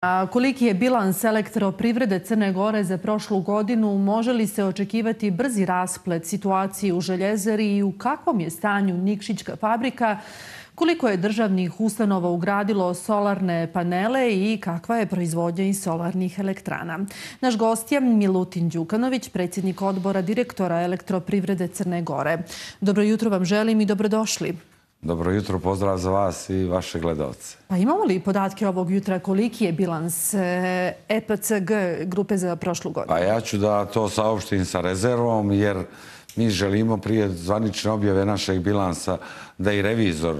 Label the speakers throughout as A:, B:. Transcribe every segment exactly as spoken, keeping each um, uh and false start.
A: A koliki je bilans elektroprivrede Crne Gore za prošlu godinu? Može li se očekivati brzi rasplet situacije u Željezari i u kakvom je stanju Nikšićka fabrika? Koliko je državnih ustanova ugradilo solarne panele i kakva je proizvodnja iz solarnih elektrana? Naš gost je Milutin Đukanović, predsjednik odbora direktora elektroprivrede Crne Gore. Dobro jutro vam želim i dobrodošli.
B: Dobro jutro, pozdrav za vas i vaše gledalce.
A: Pa imamo li podatke ovog jutra koliki je bilans E P C G grupe za prošlu godinu?
B: Pa ja ću da to saopštim sa rezervom, jer mi želimo prije zvanične objave našeg bilansa da i revizor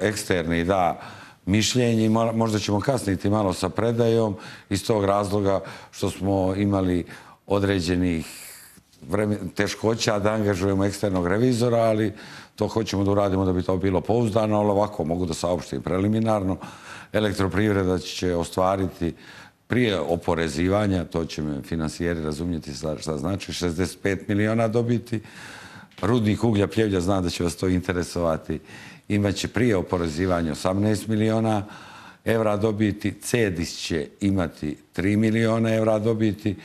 B: eksterni da mišljenje i možda ćemo kasniti malo sa predajom iz tog razloga što smo imali određenih teškoća da angažujemo eksternog revizora, ali to hoćemo da uradimo da bi to bilo pouzdano, ali ovako mogu da saopštim preliminarno. Elektroprivreda će ostvariti prije oporezivanja, to će me finansijeri razumjeti šta znači, šezdeset pet miliona dobiti. Rudnik uglja Pljevlja, znam da će vas to interesovati, imaće prije oporezivanja osamnaest miliona evra dobiti. Cedis će imati tri miliona evra dobiti.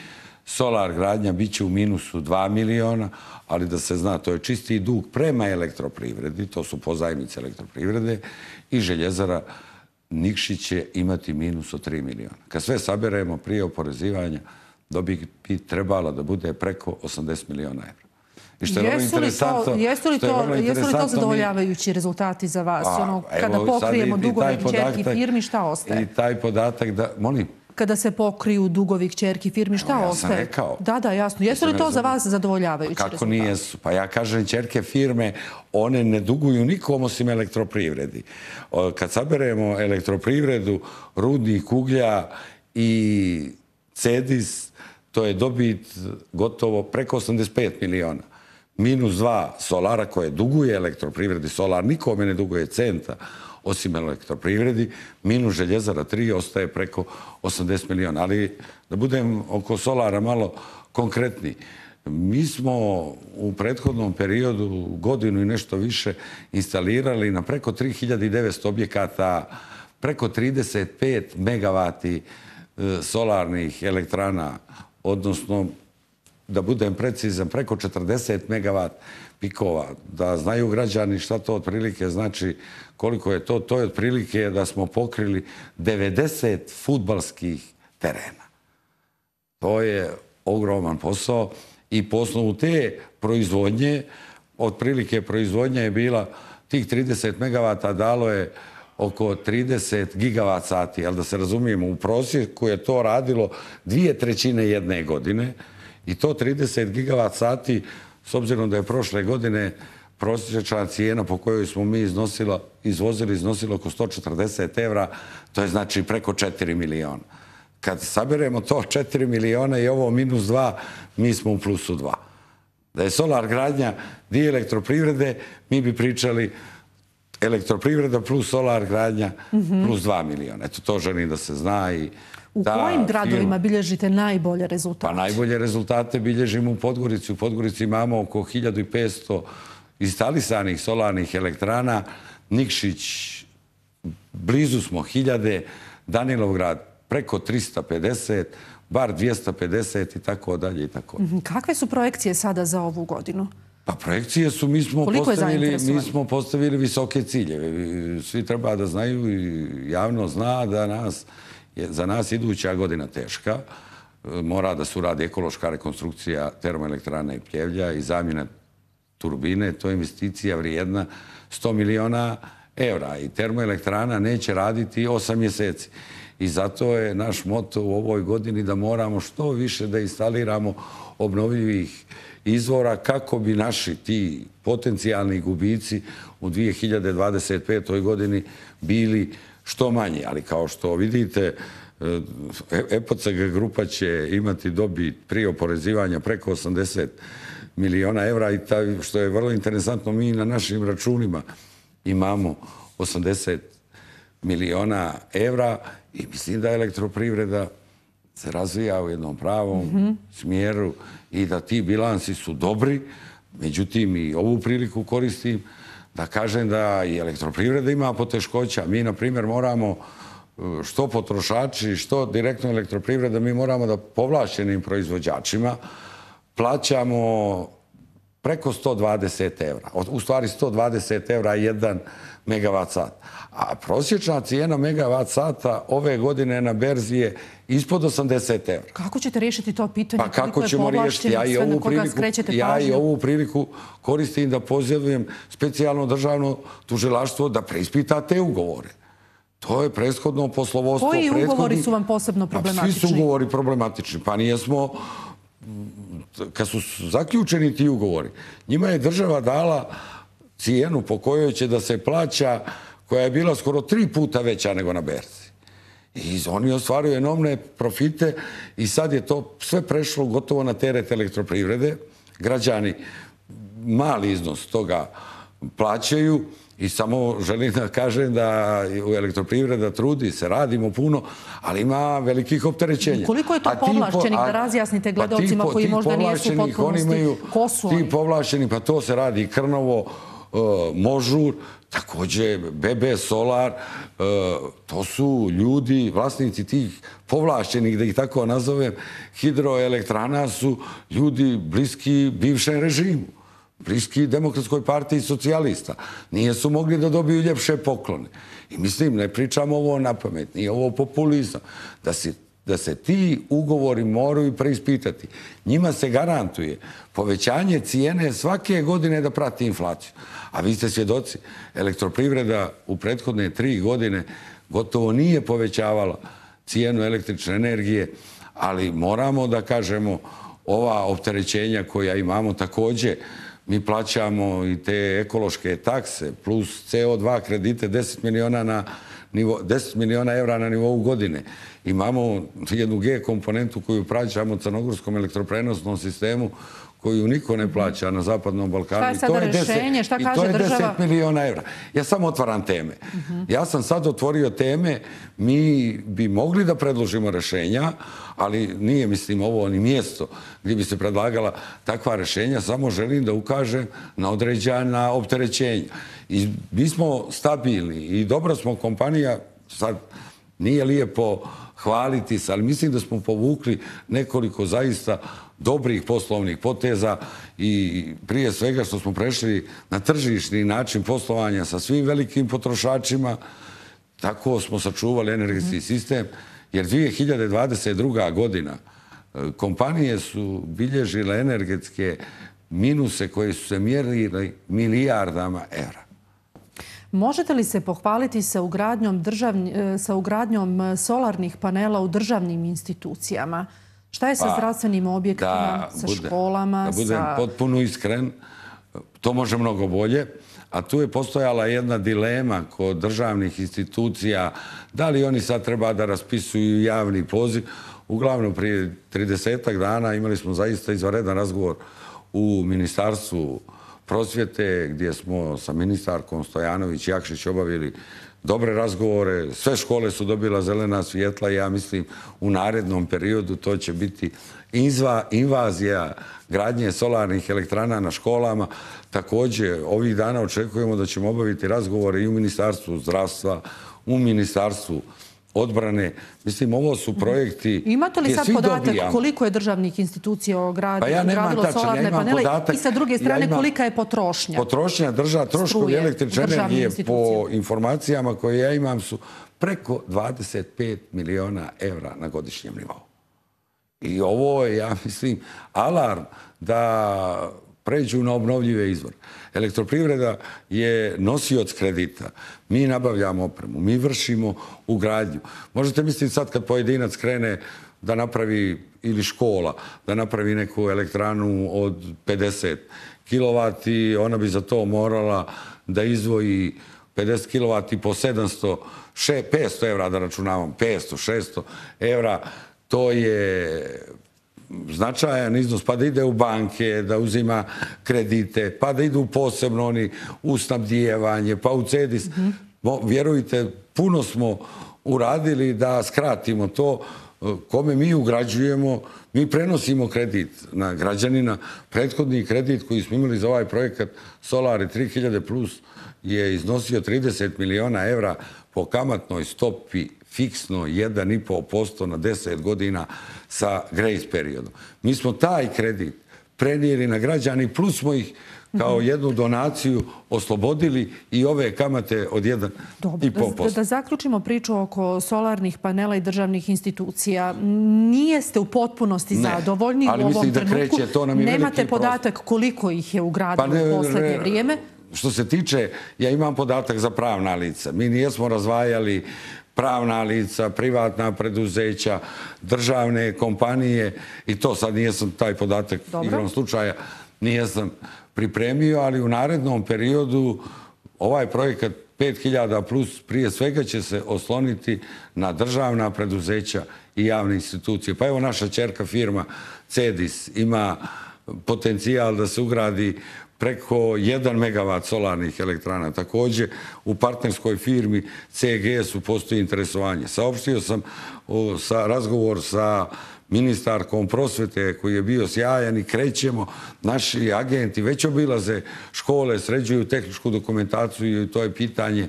B: Solar gradnja bit će u minusu dva miliona, ali da se zna, to je čisti dug prema elektroprivredi, to su pozajmice elektroprivrede, i Željezara Nikšić će imati minus od tri miliona. Kad sve saberemo prije oporezivanja, dobit bi trebala da bude preko osamdeset miliona evra.
A: Jesu li to zadovoljavajući rezultati za vas? Kada pokrijemo dugove kćerki firmi, šta ostaje?
B: I taj podatak da... Molim?
A: Kada se pokriju dugovi kćerki firmi, šta ostaje?
B: Ja sam rekao.
A: Da, da, jasno. Jesu li to za vas zadovoljavajući rezultati?
B: Kako nijesu? Pa ja kažem, kćerke firme, one ne duguju nikom osim elektroprivredi. Kad saberemo elektroprivredu, rudnik uglja i Cedis, to je dobit gotovo preko osamdeset pet miliona. Minus dva Solara koje duguje elektroprivredi. Solar nikome ne duguje centa osim elektroprivredi, minus Željezara tri ostaje preko osamdeset miliona. Ali da budem oko Solara malo konkretni. Mi smo u prethodnom periodu godinu i nešto više instalirali na preko tri hiljade devetsto objekata, preko trideset pet megavati solarnih elektrana, odnosno, da budem precizan, preko četrdeset megavat pikova. Da znaju građani šta to otprilike znači, koliko je to. To je otprilike da smo pokrili devedeset fudbalskih terena. To je ogroman posao i po osnovu te proizvodnje, otprilike proizvodnja je bila tih trideset megavata, dalo je oko trideset gigavat sati, ali da se razumijemo, u prosjeku je to radilo dvije trećine jedne godine i to trideset gigavat sati, s obzirom da je prošle godine prosječna cijena po kojoj smo mi izvozili iznosila oko sto četrdeset evra, to je znači preko četiri miliona. Kad saberemo to četiri miliona i ovo minus dva, mi smo u plusu dva. Da je solar gradnja dio elektroprivrede, mi bi pričali elektroprivreda plus solar gradnja plus dva miliona. Eto, to želim da se zna.
A: U kojim gradovima bilježite najbolje rezultate?
B: Pa najbolje rezultate bilježimo u Podgorici. U Podgorici imamo oko hiljadu petsto instalisanih solarnih elektrana. Nikšić, blizu smo hiljade. Danilovgrad preko trista pedeset, Bar dvjesto pedeset i tako dalje i tako.
A: Kakve su projekcije sada za ovu godinu?
B: Pa projekcije su, mi smo postavili visoke ciljeve. Svi treba da znaju i javno zna da nas za nas iduća godina teška. Mora da se uradi ekološka rekonstrukcija termoelektrane i Pljevlja i zamjena turbine. To je investicija vrijedna sto miliona evra i termoelektrana neće raditi osam mjeseci. I zato je naš moto u ovoj godini da moramo što više da instaliramo obnovljivih izvora kako bi naši ti potencijalni gubici u dvije hiljade dvadeset petoj godini bili što manji. Ali kao što vidite, E P C G grupa će imati dobit prije oporezivanja preko osamdeset miliona evra i što je vrlo interesantno, mi na našim računima imamo osamdeset miliona evra i mislim da elektroprivreda se razvija u jednom pravom smjeru i da ti bilansi su dobri. Međutim, i ovu priliku koristim da kažem da i elektroprivreda ima poteškoća. Mi, na primjer, moramo što potrošači, što direktno elektroprivreda, mi moramo da povlašćenim proizvođačima plaćamo preko sto dvadeset evra. U stvari sto dvadeset evra jedan megavat sat. A prosječna cijena megavat sata ove godine na berzi je ispod osamdeset evra.
A: Kako ćete riješiti to pitanje?
B: Pa kako ćemo riješiti? Ja i ovu priliku, ja i ovu priliku koristim da pozivim specijalno državno tužilaštvo da preispita te ugovore. To je prethodno poslovodstvo.
A: Koji ugovori su vam posebno problematični?
B: Svi su ugovori problematični. Pa nijesmo, kad su zaključeni ti ugovori, njima je država dala cijenu po kojoj će da se plaća, koja je bila skoro tri puta veća nego na berzi. I oni ostvaruju enormne profite i sad je to sve prešlo gotovo na teret elektroprivrede. Građani mali iznos toga plaćaju i samo želim da kažem da u elektroprivreda trudi se, radimo puno, ali ima velikih opterećenja.
A: Koliko je to povlašćenih, da razjasnite gledalcima koji možda nijesu u potpunosti? Ko su oni?
B: Ti povlašćeni, pa to se radi Krnovo, Možur, također B B Solar, to su ljudi, vlasnici tih povlašćenih, da ih tako nazovem, hidroelektrana su ljudi bliski bivšem režimu, bliski Demokratskoj partiji socijalista. Nije su mogli da dobiju ljepše poklone. I mislim, ne pričamo ovo na pamet, nije ovo populizam, da se da se ti ugovori moraju preispitati. Njima se garantuje povećanje cijene svake godine da prati inflaciju. A vi ste svjedoci, elektroprivreda u prethodne tri godine gotovo nije povećavala cijenu električne energije, ali moramo da kažemo ova opterećenja koja imamo također, mi plaćamo i te ekološke takse plus C O dva kredite deset miliona na nivo, deset miliona evra na nivou godine. Imamo jednu G komponentu koju plaćamo crnogorskom elektroprenosnom sistemu koju niko ne plaća na Zapadnom Balkanu.
A: Šta je sada rješenje? Šta kaže država?
B: I to je deset miliona evra. Ja samo otvaram teme. Ja sam sad otvorio teme, mi bi mogli da predložimo rješenja, ali nije, mislim, ovo ni mjesto gdje bi se predlagala takva rješenja, samo želim da ukažem na određena opterećenja. I mi smo stabilni i dobra smo kompanija, sad nije lijepo hvaliti se, ali mislim da smo povukli nekoliko zaista dobrih poslovnih poteza i prije svega što smo prešli na tržišni način poslovanja sa svim velikim potrošačima, tako smo sačuvali energetski sistem, jer dvije hiljade dvadeset druga. godina kompanije su bilježile energetske minuse koje su se mjerili milijardama evra.
A: Možete li se pohvaliti sa ugradnjom, državni, sa ugradnjom solarnih panela u državnim institucijama? Šta je sa zdravstvenim objektima, sa školama?
B: Da budem potpuno iskren, to može mnogo bolje. A tu je postojala jedna dilema kod državnih institucija, da li oni sad treba da raspisuju javni poziv. Uglavnom, prije tridesetak dana imali smo zaista izvanredan razgovor u Ministarstvu prosvjete, gdje smo sa ministarkom Stojanović i Jakšić obavili dobre razgovore. Sve škole su dobila zelena svjetla i ja mislim u narednom periodu to će biti invazija gradnje solarnih elektrana na školama. Također, ovih dana očekujemo da ćemo obaviti razgovore i u Ministarstvu zdravstva, u Ministarstvu odbrane. Mislim, ovo su projekti...
A: Imate li sad podatak koliko je državnih institucija ogradilo solarne panele i sa druge strane kolika je potrošnja?
B: Potrošnja država, troškovi električne energije po informacijama koje ja imam su preko dvadeset pet miliona evra na godišnjem nivou. I ovo je, ja mislim, alarm da pređu na obnovljive izvore. Elektroprivreda je nosioc kredita. Mi nabavljamo opremu, mi vršimo ugradnju. Možete misliti sad kad pojedinac krene da napravi, ili škola, da napravi neku elektranu od pedeset kilovati, ona bi za to morala da izdvoji pedeset kilovati po sedamsto, petsto evra, da računavam, petsto, šesto evra. To je značajan iznos, pa da ide u banke, da uzima kredite, pa da idu posebno oni u snabdijevanje, pa u CEDIS. Vjerujte, puno smo uradili da skratimo to kome mi ugrađujemo. Mi prenosimo kredit na građanina. Prethodni kredit koji smo imali za ovaj projekat Solari tri hiljade plus je iznosio trideset miliona evra po kamatnoj stopi fiksno jedan i po posto na deset godina sa grace periodom. Mi smo taj kredit prenijeli na građani, plus smo ih kao jednu donaciju oslobodili i ove kamate od jedan i po posto.
A: Da zaključimo priču oko solarnih panela i državnih institucija. Nijeste u potpunosti zadovoljni u ovom trenutku. Nemate podatak koliko ih je ugradilo u poslednje vrijeme?
B: Što se tiče, ja imam podatak za pravna lica. Mi nijesmo razvajali pravna lica, privatna preduzeća, državne kompanije i to sad nijesam taj podatak igrom slučaja, nijesam pripremio, ali u narednom periodu ovaj projekat pet hiljada plus prije svega će se osloniti na državna preduzeća i javne institucije. Pa evo naša ćerka firma Cedis ima potencijal da se ugradi preko jedan megavat solarnih elektrana. Također u partnerskoj firmi C G S-u postoji interesovanje. Saopštio sam sa razgovor sa ministarkom prosvete koji je bio sjajan i krećemo. Naši agenti već obilaze škole, sređuju tehničku dokumentaciju i to je pitanje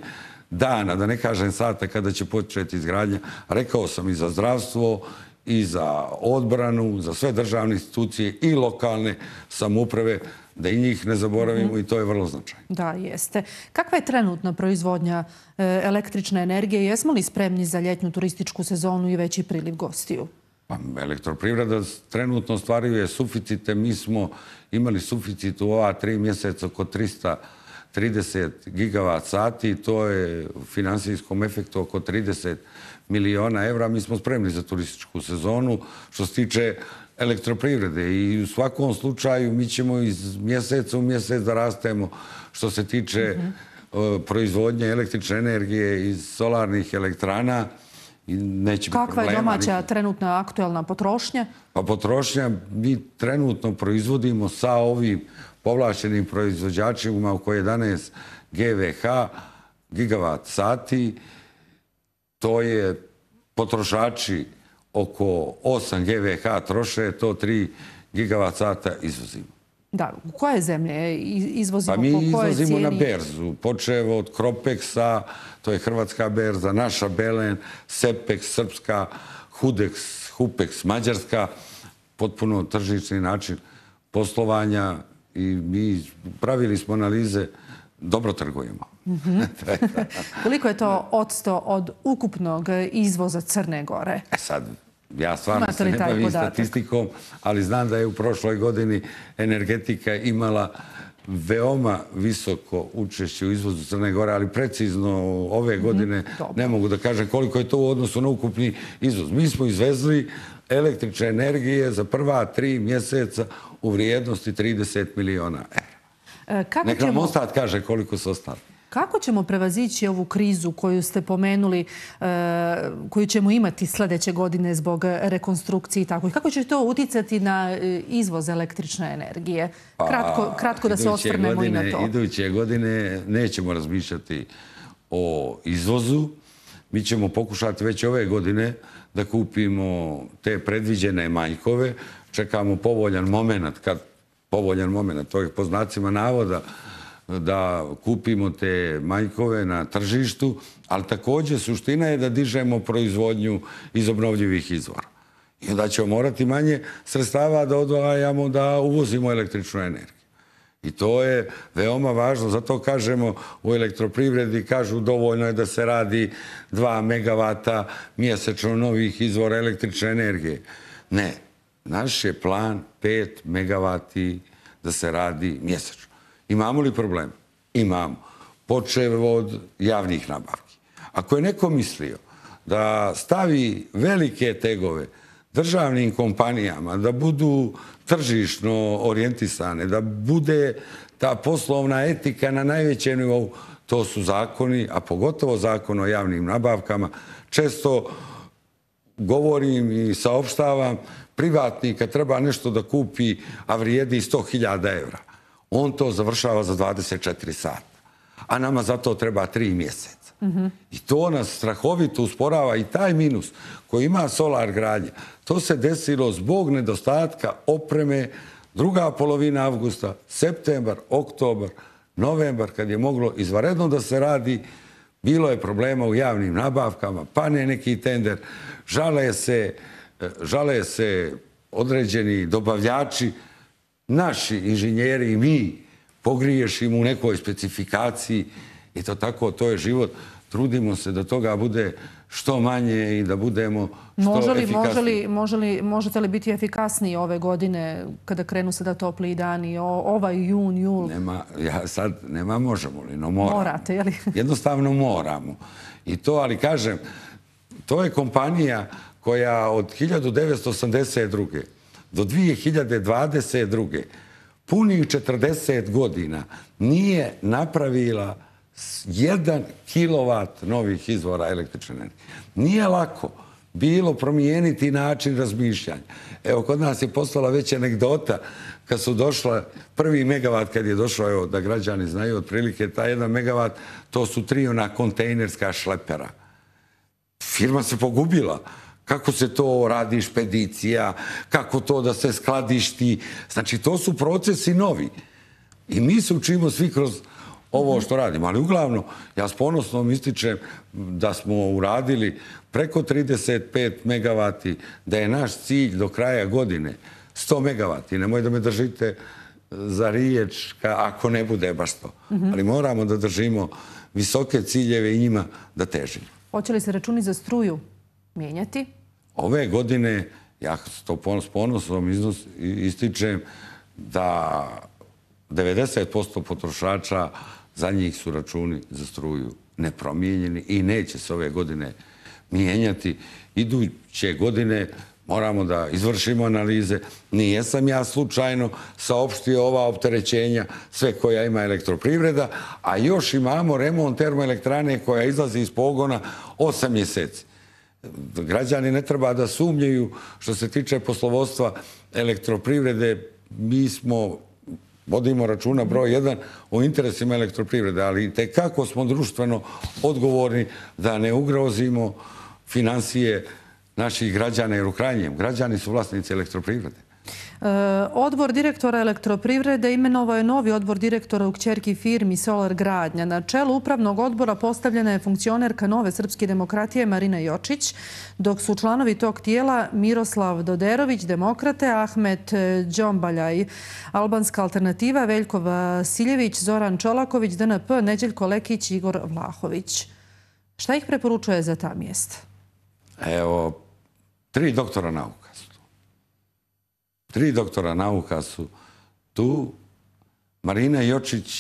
B: dana, da ne kažem sata kada će početi izgradnja. Rekao sam i za zdravstvo, i za odbranu, za sve državne institucije i lokalne samouprave, da i njih ne zaboravimo i to je vrlo značajno.
A: Da, jeste. Kakva je trenutna proizvodnja električne energije? Jesmo li spremni za ljetnju turističku sezonu i veći priliv gostiju?
B: Elektroprivreda trenutno ostvaruje suficite. Mi smo imali suficit u ova tri mjeseca oko trista trideset gigavat sati. To je u finansijskom efektu oko trideset miliona evra. Mi smo spremni za turističku sezonu. Što se tiče elektroprivrede i u svakom slučaju mi ćemo iz mjeseca u mjesec da rastemo što se tiče proizvodnje električne energije iz solarnih elektrana.
A: Kakva je domaća trenutna aktuelna potrošnja?
B: Pa potrošnja mi trenutno proizvodimo sa ovim povlašćenim proizvođačima oko jedanaest gigavat sati. To je potrošači oko osam gigavat troše, to tri gigavat sata izvozimo.
A: Da, u koje zemlje izvozimo?
B: Pa mi izvozimo na berzu, počev od Kropexa, to je hrvatska berza, naša Belen, Sepex, srpska, Hudex, Hupex, mađarska, potpuno tržični način poslovanja i mi pravili smo analize, dobro trgujemo.
A: Koliko je to odsto od ukupnog izvoza Crne Gore?
B: E sad, ja stvarno se ne bavim statistikom, ali znam da je u prošloj godini energetika imala veoma visoko učešće u izvozu Crne Gore, ali precizno ove godine ne mogu da kažem koliko je to u odnosu na ukupni izvoz. Mi smo izvezli električne energije za prva tri mjeseca u vrijednosti trideset miliona evra. Nek nam Mostat kaže koliko su ostali.
A: Kako ćemo prevazići ovu krizu koju ste pomenuli, koju ćemo imati sljedeće godine zbog rekonstrukcije i tako? I kako će to uticati na izvoz električne energije? Kratko da se osvrnemo i na to.
B: Iduće godine nećemo razmišljati o izvozu. Mi ćemo pokušati već ove godine da kupimo te predviđene manjkove. Čekamo povoljan moment, kad povoljan moment, to je po znacima navoda, da kupimo te manjkove na tržištu, ali također suština je da dižemo proizvodnju iz obnovljivih izvora. I onda ćemo morati manje sredstava da odvajamo da uvozimo električnu energiju. I to je veoma važno, zato kažemo u elektroprivredi, kažu dovoljno je da se radi dva megavata mjesečno novih izvora električne energije. Ne, naš je plan pet megavati da se radi mjesečno. Imamo li problem? Imamo. Počev od javnih nabavki. Ako je neko mislio da stavi velike tegove državnim kompanijama, da budu tržišno orijentisane, da bude ta poslovna etika na najvećem nivou, to su zakoni, a pogotovo zakon o javnim nabavkama. Često govorim i saopštavam, privatnik kad treba nešto da kupi, a vrijedi sto hiljada evra, on to završava za dvadeset četiri sata, a nama za to treba tri mjeseca. I to nas strahovito usporava i taj minus koji ima solar gradnja. To se desilo zbog nedostatka opreme druga polovina avgusta, septembar, oktobar, novembar, kad je moglo izvanredno da se radi, bilo je problema u javnim nabavkama, pane neki tender, žale se, žale se određeni dobavljači, naši inženjeri i mi pogriješimo u nekoj specifikaciji i to tako, to je život. Trudimo se da toga bude što manje i da budemo što efikasniji.
A: Možete li biti efikasniji ove godine kada krenu sada topliji dani, ovaj jun, jul?
B: Ja sad nema možemo li, no moramo.
A: Morate, je li?
B: Jednostavno moramo. I to, ali kažem, to je kompanija koja od hiljadu devetsto osamdeset druge do dvije hiljade dvadeset druge punih četrdeset godina nije napravila jedan kilovat novih izvora električne energije. Nije lako bilo promijeniti način razmišljanja. Evo, kod nas je postala već anegdota kad su došla prvi megavat, kad je došao, evo, da građani znaju otprilike, taj jedan megavat, to su tri ona kontejnerska šlepera. Firma se pogubila. Kako se to radi špedicija, kako to da se skladišti. Znači, to su procesi novi. I mi se učimo svi kroz ovo što radimo. Ali uglavnom, ja s ponosnom ističem da smo uradili preko trideset pet megavati, da je naš cilj do kraja godine sto megavati. Nemoj da me držite za riječ ako ne bude baš to. Ali moramo da držimo visoke ciljeve i njima da težimo.
A: Hoće li se računi za struju mijenjati?
B: Ove godine, ja to s ponosom ističem da devedeset posto potrošača, za njih su računi za struju nepromijenjeni i neće se ove godine mijenjati. Iduće godine moramo da izvršimo analize. Nijesam ja slučajno saopštio ova opterećenja, sve koja ima elektroprivreda, a još imamo remont termoelektrane koja izlazi iz pogona osam mjeseci. Građani ne treba da sumnjaju što se tiče poslovodstva elektroprivrede. Mi smo, vodimo računa broj jedan o interesima elektroprivrede, ali tekako smo društveno odgovorni da ne ugrozimo finansije naših građana, jer u krajnjem građani su vlasnici elektroprivrede.
A: Odbor direktora elektroprivrede imenovao je novi odbor direktora u kćerki firmi Solar Gradnja. Na čelu upravnog odbora postavljena je funkcionerka Nove srpske demokratije Marina Jočić, dok su članovi tog tijela Miroslav Doderović, Demokrate, Ahmet Đombaljaj, Albanska alternativa, Veljko Vasiljević, Zoran Čolaković, D N P, Neđeljko Lekić, Igor Vlahović. Šta ih preporučuje za ta mjesta?
B: Evo, tri doktora nauka su tu. Tri doktora nauka su tu. Marina Jočić,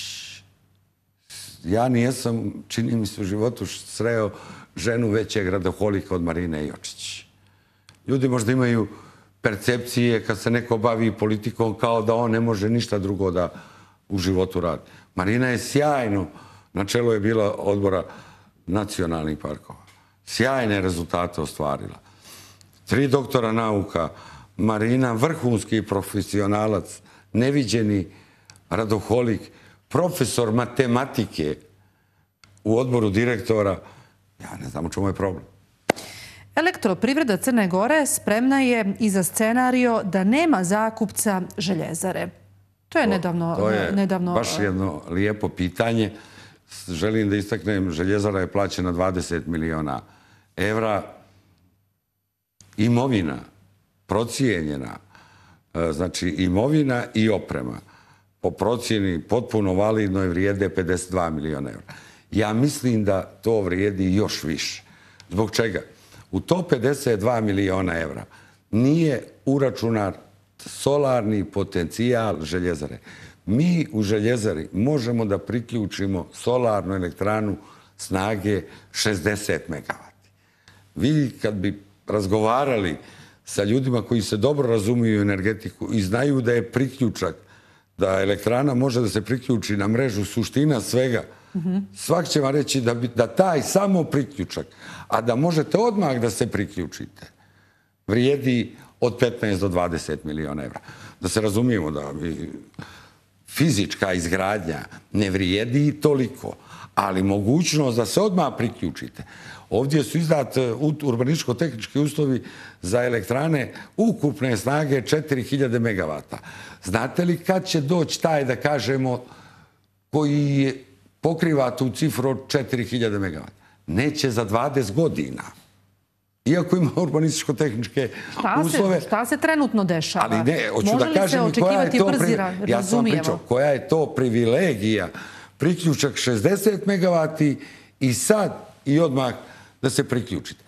B: ja nijesam, čini mi se u životu, sreo ženu većeg radoholika od Marine Jočić. Ljudi možda imaju percepcije kad se neko bavi politikom kao da on ne može ništa drugo da u životu radi. Marina je sjajno, na čelu je bila odbora nacionalnih parkova. Sjajne rezultate ostvarila. Tri doktora nauka, Marina vrhunski profesionalac, neviđeni radoholik, profesor matematike u odboru direktora. Ja ne znam u čemu je problem.
A: Elektroprivreda Crne Gore spremna je i za scenario da nema zakupca željezare. To je nedavno...
B: To je baš jedno lijepo pitanje. Želim da istaknem, željezara je plaćena dvadeset miliona evra. Imovina, procijenjena, znači imovina i oprema, po procjeni potpuno validnoj vrijede pedeset dva miliona evra. Ja mislim da to vrijedi još više. Zbog čega? U to pedeset dva miliona evra nije uračunat solarni potencijal željezare. Mi u željezari možemo da priključimo solarnu elektranu snage šezdeset megavati. Vi kad bi razgovarali sa ljudima koji se dobro razumiju u energetiku i znaju da je priključak, da elektrana može da se priključi na mrežu, suština svega, svak će vam reći da taj samo priključak, a da možete odmah da se priključite, vrijedi od petnaest do dvadeset miliona evra. Da se razumijemo da fizička izgradnja ne vrijedi toliko, ali mogućnost da se odmah priključite. Ovdje su izdat urbanističko-tehnički uslovi za elektrane ukupne snage četiri hiljade megavata. Znate li kad će doći taj, da kažemo, koji je pokriva tu cifru od četiri hiljade megavata. Neće za dvadeset godina. Iako ima urbanističko-tehničke uslove.
A: Šta se trenutno dešava?
B: Ali ne, hoću da kažem i koja je to... Ja sam pričao, koja je to privilegija. Priključak šezdeset megavati i sad i odmah da se priključite.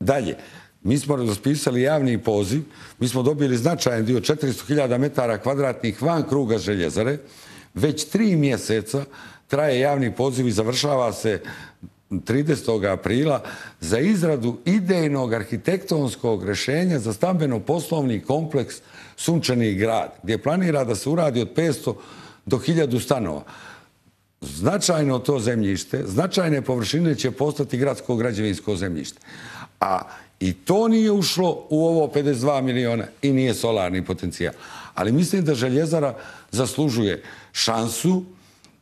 B: Dalje, mi smo raspisali javni poziv, mi smo dobili značajan dio četiristo hiljada metara kvadratnih van kruga željezare. Već tri mjeseca traje javni poziv i završava se tridesetog aprila za izradu idejnog arhitektonskog rješenja za stambeno-poslovni kompleks Sunčani grad, gdje planira da se uradi od petsto do hiljadu stanova. Značajno to zemljište, značajne površine će postati gradsko građevinsko zemljište. A i to nije ušlo u ovo pedeset dva miliona i nije solarni potencijal. Ali mislim da željezara zaslužuje šansu.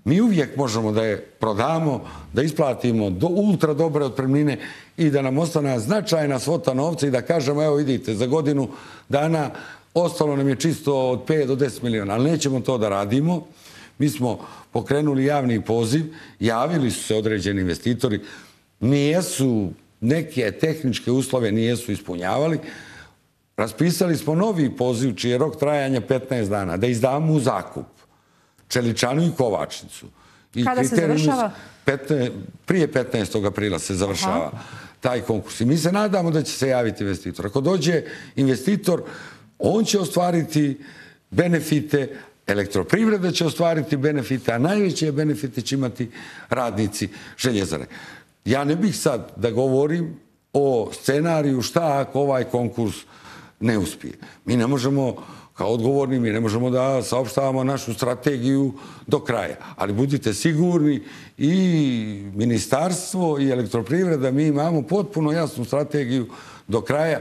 B: Mi uvijek možemo da je prodamo, da isplatimo do ultra dobre otpremnine i da nam ostane značajna svota novca i da kažemo, evo vidite, za godinu dana ostalo nam je čisto od pet do deset miliona, ali nećemo to da radimo. Mi smo pokrenuli javni poziv, javili su se određeni investitori, nijesu, neke tehničke uslove nijesu ispunjavali. Raspisali smo novi poziv, čiji je rok trajanja petnaest dana, da izdamo u zakup Čeličanu i Kovačnicu.
A: Kada se završava?
B: Prije petnaestog aprila se završava taj konkurs. I mi se nadamo da će se javiti investitor. Ako dođe investitor, on će ostvariti benefite, elektroprivreda će ostvariti benefite, a najveće benefite će imati radnici željezare. Ja ne bih sad da govorim o scenariju šta ako ovaj konkurs ne uspije. Mi ne možemo, kao odgovorni, mi ne možemo da saopštavamo našu strategiju do kraja. Ali budite sigurni, i ministarstvo i elektroprivreda, mi imamo potpuno jasnu strategiju do kraja.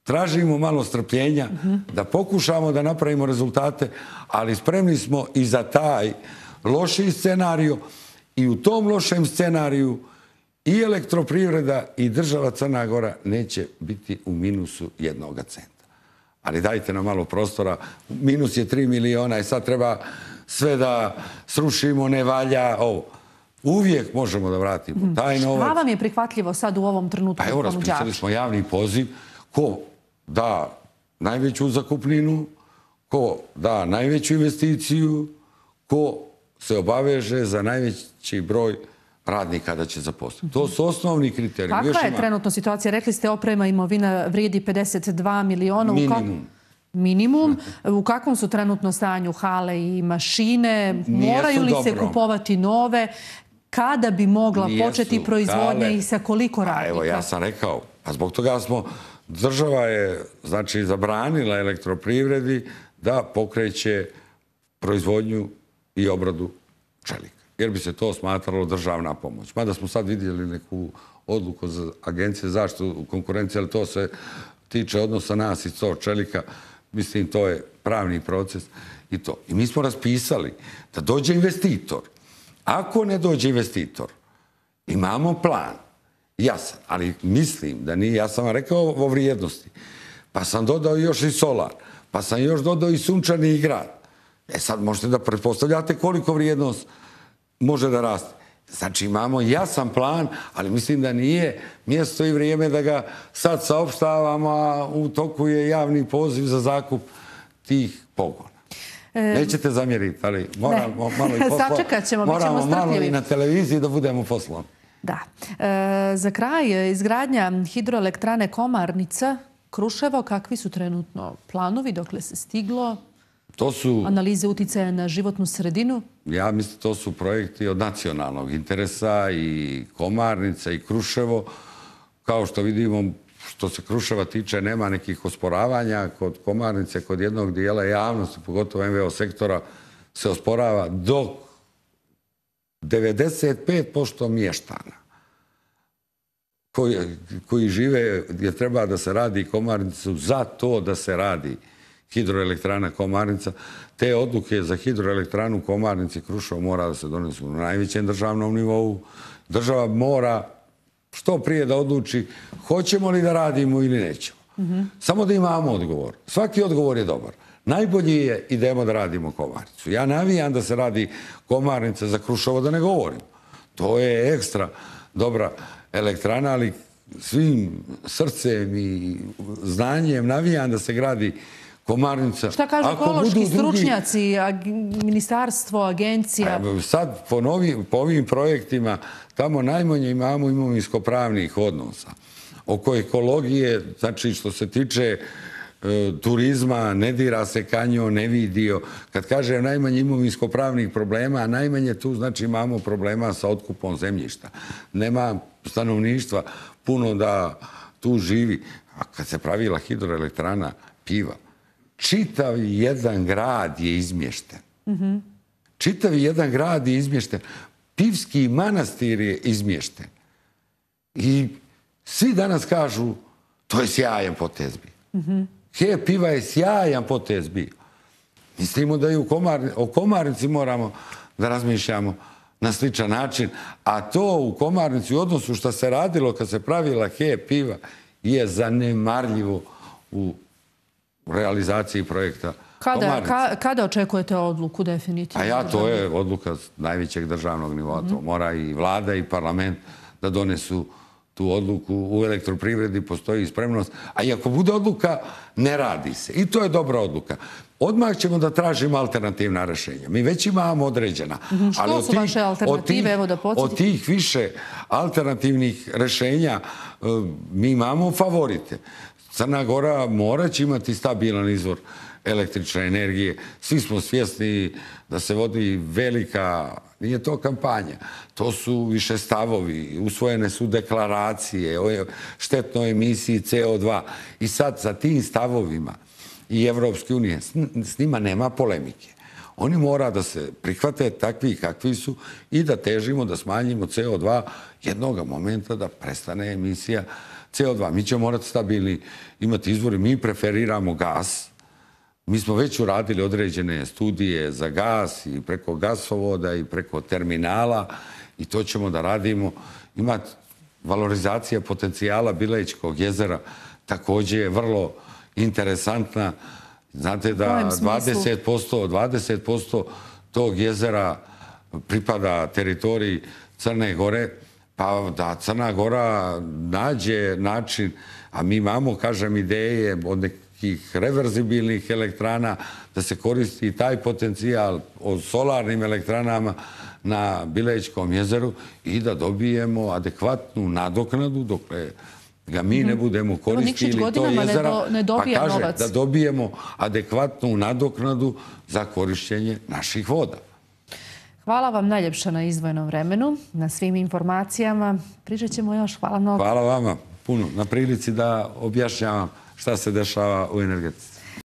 B: Tražimo malo strpljenja, da pokušamo da napravimo rezultate, ali spremni smo i za taj loši scenariju. I u tom lošem scenariju i elektroprivreda i država Crna Gora neće biti u minusu jednoga centa. Ali dajte nam malo prostora. Minus je tri miliona i sad treba sve da srušimo, ne valja ovo. Uvijek možemo da vratimo taj novac.
A: Šta vam je prihvatljivo sad u ovom trenutku?
B: Pa evo, raspisali smo javni poziv. Ko da najveću zakupninu, ko da najveću investiciju, ko se obaveže za najveći broj radnika da će zaposliti. To su osnovni kriteriji.
A: Kakva je trenutno situacija? Rekli ste oprema imovina vrijedi pedeset dva miliona.
B: Minimum.
A: Minimum. U kakvom su trenutno stanju hale i mašine? Moraju li se kupovati nove? Kada bi mogla početi proizvodnja i sa koliko radnika?
B: Evo, ja sam rekao, a zbog toga smo, država je, znači, zabranila elektroprivredi da pokreće proizvodnju i obradu čelika. Jer bi se to smatralo državna pomoć. Mada smo sad vidjeli neku odluku za Agencije za zaštitu konkurencije, ali to se tiče odnosa nas i to čelika. Mislim, to je pravni proces i to. I mi smo raspisali da dođe investitor. Ako ne dođe investitor, imamo plan. Jasan, ali mislim da nije. Ja sam vam rekao o vrijednosti. Pa sam dodao još i solar. Pa sam još dodao i Sunčani grad. E sad možete da pretpostavljate koliko vrijednost može da raste. Znači imamo jasan plan, ali mislim da nije mjesto i vrijeme da ga sad saopštavamo, a u toku je javni poziv za zakup tih pogona. Nećete zamjeriti, ali moramo malo i poslo...
A: Sačekat ćemo, bit ćemo strpljivi.
B: Moramo malo i na televiziji da budemo poslom.
A: Da. Za kraj, izgradnja hidroelektrane Komarnica, Kruševo, kakvi su trenutno planovi, dokle se stiglo?
B: To su...
A: Analize uticaja na životnu sredinu?
B: Ja mislim, to su projekti od nacionalnog interesa, i Komarnica i Kruševo. Kao što vidimo, što se Kruševa tiče, nema nekih osporavanja. Kod Komarnice, kod jednog dijela javnosti, pogotovo em ve o sektora, se osporava, dok devedeset pet posto mještana koji, koji žive gdje treba da se radi Komarnicu, za to da se radi hidroelektrana Komarnica, te odluke za hidroelektranu Komarnici Kruševo mora da se donesu na najvećem državnom nivou. Država mora što prije da odluči hoćemo li da radimo ili nećemo. Samo da imamo odgovor. Svaki odgovor je dobar. Najbolji je idemo da radimo Komarnicu. Ja navijam da se radi Komarnica, za Kruševo da ne govorim. To je ekstra dobra elektrana, ali svim srcem i znanjem navijam da se gradi Komarnica.
A: Šta kažu ekološki stručnjaci, ministarstvo, agencija?
B: Sad po ovim projektima tamo najmanje imamo imovinsko-pravnih odnosa. Oko ekologije, znači što se tiče turizma, ne dira se kanjon, ne vidio. Kad kažem najmanje imovinsko-pravnih problema, a najmanje tu znači imamo problema sa otkupom zemljišta. Nema stanovništva puno da tu živi. A kad se pravila hidroelektrana Piva, čitav jedan grad je izmješten. Čitav jedan grad je izmješten. Pivski manastir je izmješten. I svi danas kažu to je sjajan potez bio. H E P Piva je sjajan potez bio. Mislimo da i o Komarnici moramo da razmišljamo na sličan način, a to u Komarnici u odnosu što se radilo kad se pravila H E P Piva je zanemarljivo u realizaciji projekta Komarnice.
A: Kada očekujete odluku definitivno?
B: A ja, to je odluka najvećeg državnog nivoa. To mora i vlada i parlament da donesu tu odluku. U elektroprivredi postoji spremnost. A i ako bude odluka, ne radi se. I to je dobra odluka. Odmah ćemo da tražimo alternativna rešenja. Mi već imamo određena.
A: Što su vaše alternative? Evo da podsjetim.
B: Od tih više alternativnih rešenja mi imamo favorite. Crna Gora mora će imati stabilan izvor električne energije. Svi smo svjesni da se vodi velika, nije to kampanja, to su više stavovi, usvojene su deklaracije o štetnoj emisiji C O dva. I sad sa tim stavovima i Evropske unije, s njima nema polemike. Oni mora da se prihvate takvi kakvi su i da težimo da smanjimo C O dva jednog momenta da prestane emisija C O dva. Mi ćemo morati stabilni imati izvori. Mi preferiramo gas. Mi smo već uradili određene studije za gas i preko gasovoda i preko terminala i to ćemo da radimo. Ima valorizacija potencijala Bilećkog jezera također je vrlo interesantna. Znate da dvadeset posto tog jezera pripada teritoriji Crne Gore, pa da Crna Gora nađe način, a mi imamo, kažem, ideje od nekih reverzibilnih elektrana da se koristi taj potencijal o solarnim elektranama na Bilećkom jezeru i da dobijemo adekvatnu nadoknadu dokle ga mi ne budemo koristili to jezera, pa kaže da dobijemo adekvatnu nadoknadu za korišćenje naših voda.
A: Hvala vam najljepša na izdvojenom vremenu, na svim informacijama. Pričat ćemo još. Hvala mnogo.
B: Hvala vama puno na prilici da objašnjavam šta se dešava u energetici.